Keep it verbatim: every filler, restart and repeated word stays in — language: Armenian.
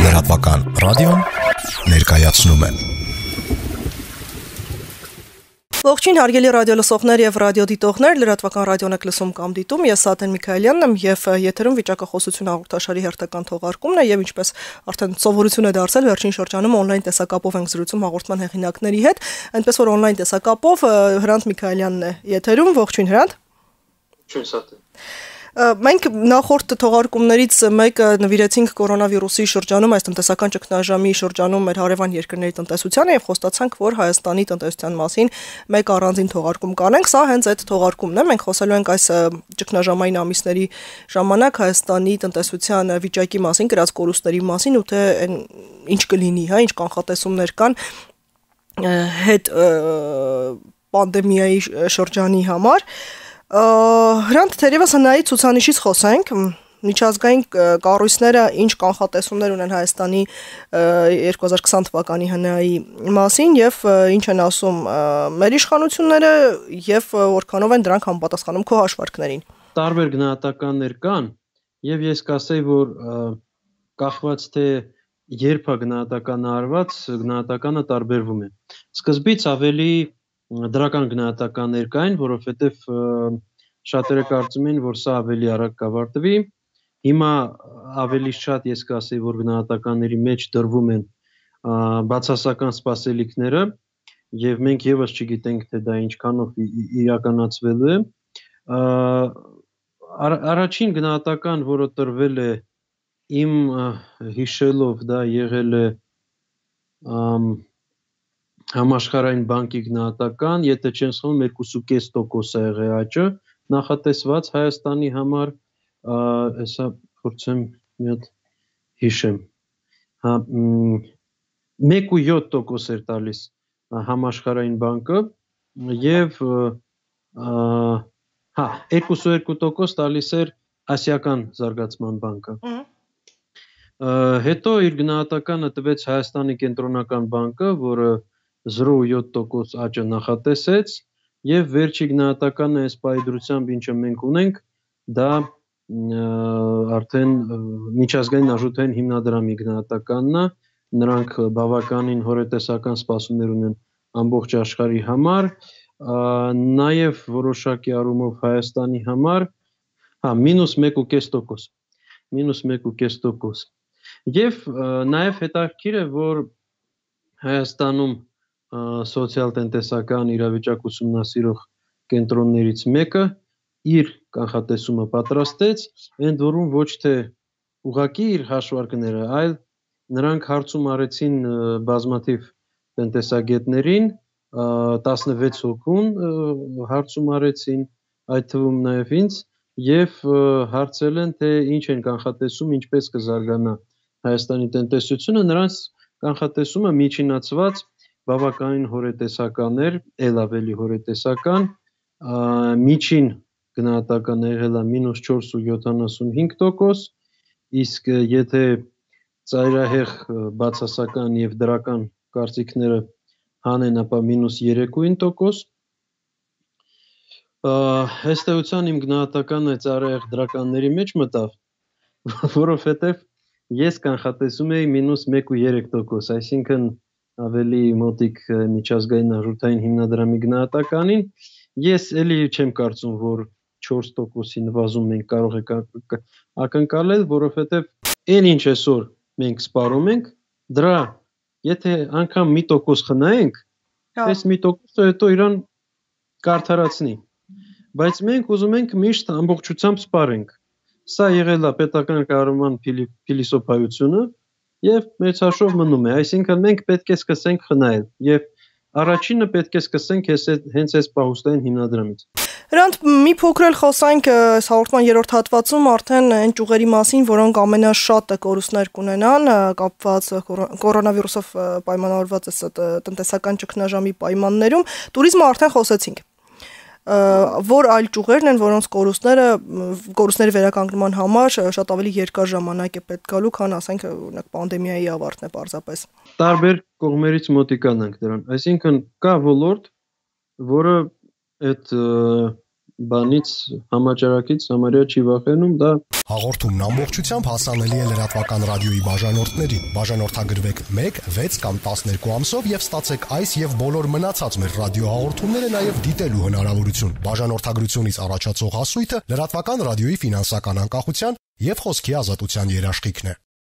Լրատվական ռադիոն ներկայացնում է։ Ողջույն հարգելի ռադիոլսողներ եւ ռադիոդիտողներ, լրատվական ռադիոն եք լսում կամ դիտում, ես Սաթեն Միքայելյանն եմ եւ եթերում վիճակախոսություն հաղորդաշարի հերթական թողարկումն է եւ ինչպես արդեն սովորություն է դարձել, վերջին շրջանում օնլայն տեսակապով ենք զրուցում հաղորդման հեղինակների հետ, այնպես որ օնլայն տեսակապով Հրանտ Միքայելյանն է եթերում, ողջույն Հրանտ։ Ողջույն Սաթեն։ Մենք նախորդ թողարկումներից մեկը նվիրեցինք կորոնավիրուսի շրջանում, այս տնտեսական ճգնաժամի շրջանում մեր հարևան երկրների տնտեսությանը եւ խոստացանք, որ Հայաստանի տնտեսության մասին մեկ առանձին թողարկում կանենք։ Սա հենց այդ թողարկումն է։ Մենք խոսելու ենք այս ճգնաժամային ամիսների ժամանակ Հայաստանի տնտեսության վիճակի մասին, գրած կորուստների մասին ու թե ինչ կլինի, հա, ինչ կանխատեսումներ կան հետ պանդեմիայի շրջանի համար։ Հրանտ թերևս հնայի ցուցանիշից խոսենք, միջազգային կառույցները ինչ կանխատեսումներ ունեն Հայաստանի երկու հազար քսան թվականի հնայի մասին եւ ինչ են ասում մեր իշխանությունները եւ որքանով են դրանք համապատասխանում քո հաշվարկներին։ Տարբեր գնահատականներ կան եւ ես կասեի, որ կախված թե երբ է գնահատականը արված, գնահատականը տարբերվում է։ Սկզբից ավելի դրական գնահատականներ կային, որովհետև շատերը կարծում են, որ սա ավելի արագ կավարտվի։ Հիմա ավելի շատ ես կասեի, որ գնահատականների մեջ դրվում են բացասական սպասելիքները եւ մենք եւս չգիտենք, թե դա ինչքանով իրականացվելու է։ Առաջին գնահատական, որը տրվել է իմ հիշելով, դա եղել է Համաշխարհային բանկի գնահատական, եթե չեմ սխալվում, երկու կես տոկոս է եղել աճը նախատեսված Հայաստանի համար, հեսա փորձեմ մի հատ հիշեմ, հա մեկ ու յոթ տոկոս էր տալիս Համաշխարհային բանկը եւ հա երկու ու երկու տոկոս տալիս էր Ասիական զարգացման բանկը։ Հետո իր գնահատականը տվեց Հայաստանի կենտրոնական բանկը, որը զրո ու յոթ տոկոս աճը նախատեսեց եւ վերջի գնահատականը այս պայդրությամբ ինչը մենք ունենք, դա արդեն միջազգային արժութային հիմնադրամի գնահատականն է, նրանք բավականին հորետեսական սպասումներ ունեն ամբողջ աշխարհի համար, նաեւ որոշակի առումով Հայաստանի համար, հա մինուս մեկ ու կես տոկոս, մինուս մեկ ու կես տոկոս։ Եվ նաեւ հետաքրքիր է, որ Հայաստանում սոցիալ-տնտեսական իրավիճակ ուսումնասիրող կենտրոններից մեկը իր կանխատեսումը պատրաստեց, ընդ որում ոչ թե ուղղակի իր հաշվարկները, այլ նրանք հարցում արեցին բազմաթիվ տնտեսագետներին, տասնվեց հոգուն հարցում արեցին, այդ թվում նաև ինձ, եւ հարցել են, թե ինչ են կանխատեսում, ինչպես կզարգանա Հայաստանի տնտեսությունը, նրանց կանխատեսումը միջինացված բավականին հորետեսական էր, ել ավելի հորետեսական, միջին գնահատականը եղել է մինուս չորս ու յոթանասունհինգ տոկոս, իսկ եթե ծայրահեղ բացասական եւ դրական կարծիքները հանեն, ապա մինուս երեկույն տոկոս։ Ըստ էության իմ գնահատականը ծայրահեղ դրականների մեջ մտավ, որովհետեւ ես կանխատեսում էի մինուս մեկ ու երեք տոկոս, այսինքն ավելի մոտիկ միջազգային արժութային հիմնադրամի գնահատականին, ես էլի չեմ կարծում, որ չորս տոկոսի նվազում մենք կարող ենք ակնկալել, որովհետև այն ինչ այսօր մենք սպառում ենք, դրա եթե անգամ մի տոկոս խնայենք, այս մի տոկոսը հետո իրան կարդարացնի, բայց մենք ուզում ենք միշտ ամբողջությամբ սպառենք։ Սա եղել է պետական կառավարման փիլիսոփայությունը եւ մեծ հաշվով մնում է, այսինքն մենք պետք է սկսենք խնայել եւ առաջինը պետք է սկսենք հենց այս պահուստային հիմնադրամից։ Հրանտ մի փոքր էլ խոսանք այս հաղորդման երրորդ հատվածում արդեն այն ճյուղերի մասին, որոնք ամենաշատը կորուստներ կունենան կապված կորոնավիրուսով պայմանավորված տնտեսական ճգնաժամի պայմաններում, տուրիզմը արդեն խոսեցինք։ Որ այլ ճյուղերն են, որոնց կորուստները կորուստների վերականգնման համար շատ ավելի երկար ժամանակ է պետք գալու, քան ասենք օրինակ պանդեմիայի ավարտն է պարզապես։ Տարբեր կողմերից մոտիկանանք դրան, այսինքն կա ոլորտ, որը այդ բանից համաճարակից համարյա չի վախենում, դա Հաղորդումն ամբողջությամբ հասանելի է լրատվական ռադիոյի բաժանորդներին։ Բաժանորդագրվեք մեկ, վեց կամ տասներկու ամսով եւ ստացեք այս եւ բոլոր մնացած մեր ռադիոհաղորդումները նաեւ դիտելու հնարավորություն։ Բաժանորդագրությունից առաջացող հասույթը լրատվական ռադիոյի ֆինանսական անկախության եւ խոսքի ազատության երաշխիքն է։